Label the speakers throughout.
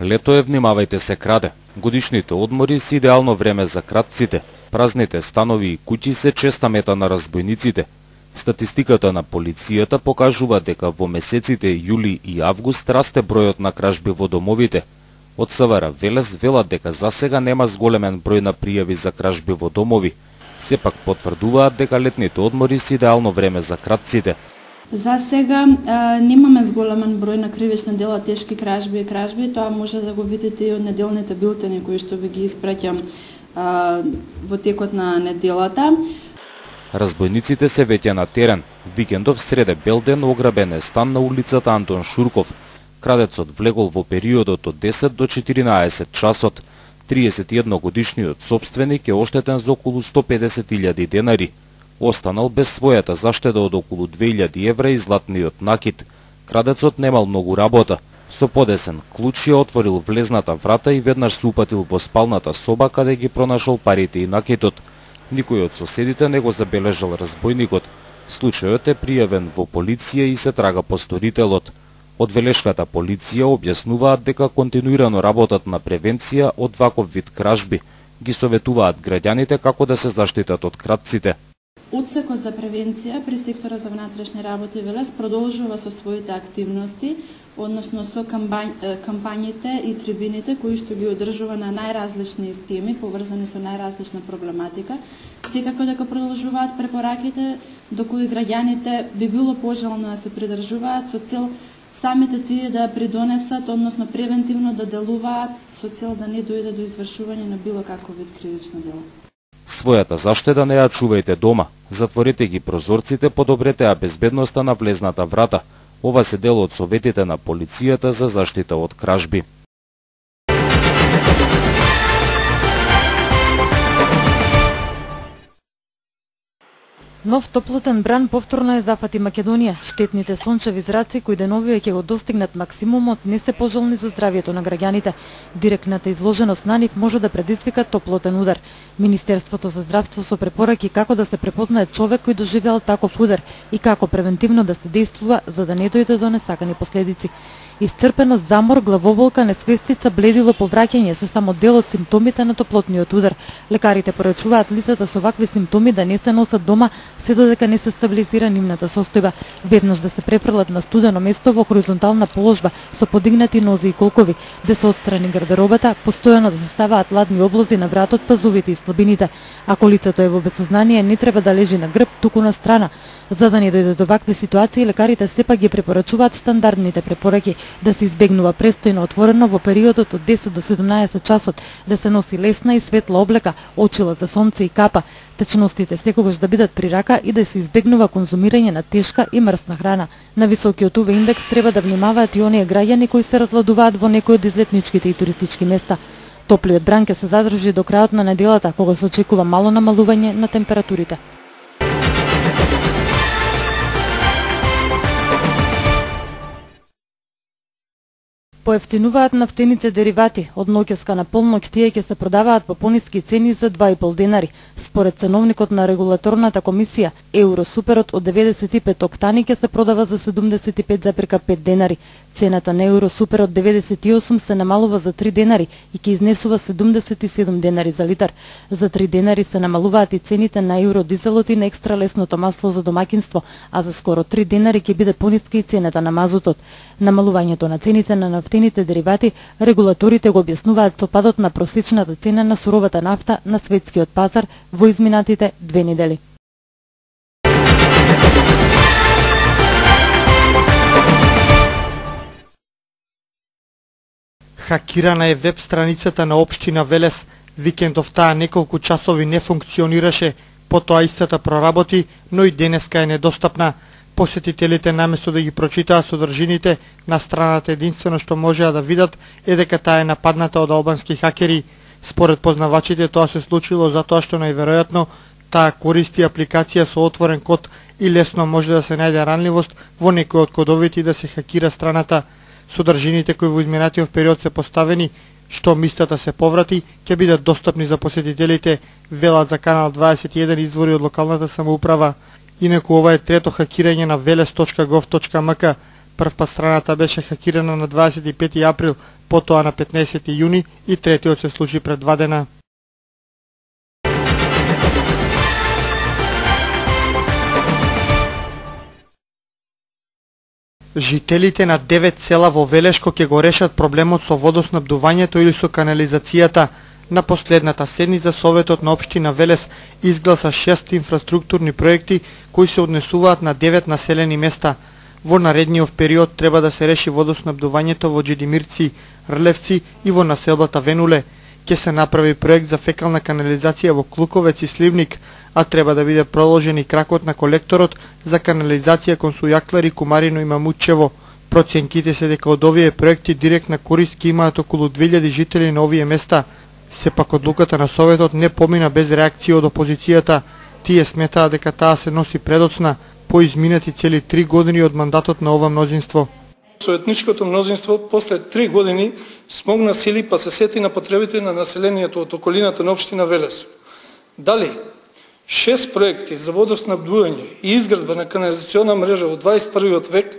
Speaker 1: Лето е, внимавајте, се краде. Годишните одмори се идеално време за кратците. Празните станови и куќи се честа мета на разбойниците. Статистиката на полицијата покажува дека во месеците јули и август расте бројот на кражби во домовите. Од СВР Велес велат дека засега нема зголемен број на пријави за кражби во домови. Сепак потврдуваат дека летните одмори се идеално време за кратците.
Speaker 2: За сега немаме зголемен број на кривични дела, тешки кражби и кражби. Тоа може да го видите и од неделните билтени кои што ви ги испраќам во текот на неделата.
Speaker 1: Разбойниците се веќе на терен. Викендов среде белден ограбен е стан на улицата Антон Шурков. Крадецот влегол во периодот од 10 до 14 часот. 31 годишниот сопственик е оштетен за околу 150.000 денари. Останал без својата заштеда од околу 2.000 евра и златниот накид. Крадецот немал многу работа. Со подесен клуч ја отворил влезната врата и веднаш се упатил во спалната соба каде ги пронашол парите и накидот. Никој од соседите не го забележал разбойникот. Случајот е пријавен во полиција и се трага по сторителот. Од Велешката полиција објаснуваат дека континуирано работат на превенција од ваков вид кражби. Ги советуваат граѓаните како да се заштитат од кратците.
Speaker 2: Одсекот за превенција при сектора за внатрешни работи Велес продолжува со своите активности, односно со кампањите и трибините кои што ги одржува на најразлични теми поврзани со најразлична проблематика. Секако дека продолжуваат препораките до кои граѓаните би било пожелно да се придржуваат со цел самите тие да придонесат, односно превентивно да делуваат со цел да не дојде до извршување на било каков вид кривично дело.
Speaker 1: Својата заштеда не ја чувајте дома. Затворете ги прозорците, подобрете ја безбедноста на влезната врата. Ова се дел од советите на полицијата за заштита од кражби.
Speaker 3: Нов топлотен бран повторно е зафати Македонија. Штетните сончеви зраци кои деновиве ќе го достигнат максимумот не се пожелни за здравието на граѓаните. Директната изложеност на нив може да предизвика топлотен удар. Министерството за здравство со препораки како да се препознае човек кој доживеал таков удар и како превентивно да се действува за да не дојде до несакани последици. Исцрпеност, замор, главоболка, несвестица, бледило, повраќање се само дел од симптомите на топлотниот удар. Лекарите порачуваат лицата со вакви симптоми да не се носат дома се додека не се стабилизира нивната состојба. Веднаш да се префрлат на студено место во хоризонтална положба со подигнати нози и колкови, да се отстрани гардеробата, постојано да се ставаат ладни облози на вратот, пазувите и слабините. Ако лицето е во безсознание, не треба да лежи на грб, туку на страна. За да не дојде до вакви ситуации, лекарите сепак ги препорачуваат стандардните препораки: да се избегнува престојно отворено во периодот од 10 до 17 часот, да се носи лесна и светла облека, очила за сонце и капа, течностите секогаш да бидат при рака и да се избегнува конзумирање на тешка и мрсна храна. На високиот УВ индекс треба да внимаваат и оние граѓани кои се разладуваат во некои од излетничките и туристички места. Топлиот бран ќе се задржи до крајот на неделата, кога се очекува мало намалување на температурите. Поевтинуваат нафтените деривати. Од ноќеска на полноќ тие ќе се продаваат по пониски цени за 2,5 денари. Според ценовникот на регулаторната комисија, Евросуперот од 95 октани ќе се продава за 75,5 денари. Цената на Евросупер од 98 се намалува за 3 денари и ќе изнесува 77 денари за литар. За 3 денари се намалуваат и цените на евродизелот и на екстра лесното масло за домаќинство, а за скоро 3 денари ќе биде пониска и цената на мазутот. Намалувањето на цените на нафтените деривати регулаторите го објаснуваат со падот на просечната цена на суровата нафта на светскиот пазар во изминатите 2 недели.
Speaker 4: Хакирана е веб страницата на општина Велес. Викендов таа неколку часови не функционираше, потоа истата проработи, но и денеска е недостапна. Посетителите наместо да ги прочитаат содржините на страната, единствено што можеа да видат е дека таа е нападната од албански хакери. Според познавачите тоа се случило затоа што најверојатно таа користи апликација со отворен код и лесно може да се најде ранливост во некој од кодовите и да се хакира страната. Содржините кои во изминатиот период се поставени, што мистата се поврати, ќе бидат достапни за посетителите, велат за Канал 21 извори од локалната самоуправа. Инаку ова е трето хакирање на veles.gov.mk. Првпат страната беше хакирана на 25 април, потоа на 15 јуни и третиот се случи пред 2 дена. Жителите на 9 села во Велешко ќе го решат проблемот со водоснабдувањето или со канализацијата. На последната седница Советот на општина Велес изгласа 6 инфраструктурни проекти кои се однесуваат на 9 населени места. Во наредниот период треба да се реши водоснабдувањето во Джедимирци, Рлевци и во населбата Венуле. Ќе се направи проект за фекална канализација во Клуковец и Сливник, а треба да биде проложен и кракот на колекторот за канализација кон Сујаклари, Кумарино и Мамутчево. Проценките се дека од овие проекти директна корист ќе имаат околу 2000 жители на овие места. Сепак одлуката на Советот не помина без реакција од опозицијата. Тие сметаа дека таа се носи предоцна по изминати цели 3 години од мандатот на ова мнозинство.
Speaker 5: Советничкото мнозинство после 3 години смогна сили па се сети на потребите на населението од околината на општина Велес. Дали 6 проекти за водоснабдување и изградба на канализациона мрежа во 21 век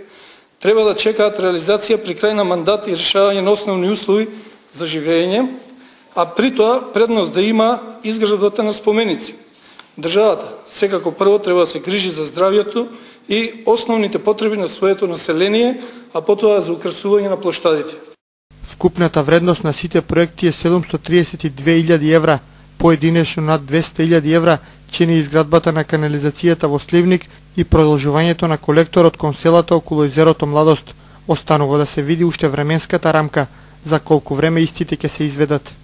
Speaker 5: треба да чекаат реализација при крај на мандат и решавање на основни услови за живење, а при тоа предност да има изградбата на споменици. Државата секако прво треба да се грижи за здравјето и основните потреби на своето население, а потоа за украсување на плоштадите.
Speaker 4: Вкупната вредност на сите проекти е 732.000 евра, поединечно над 200.000 евра чини изградбата на канализацијата во Сливник и продолжувањето на колекторот кон селата околу езерото Младост. Останува да се види уште временската рамка за колку време истите ќе се изведат.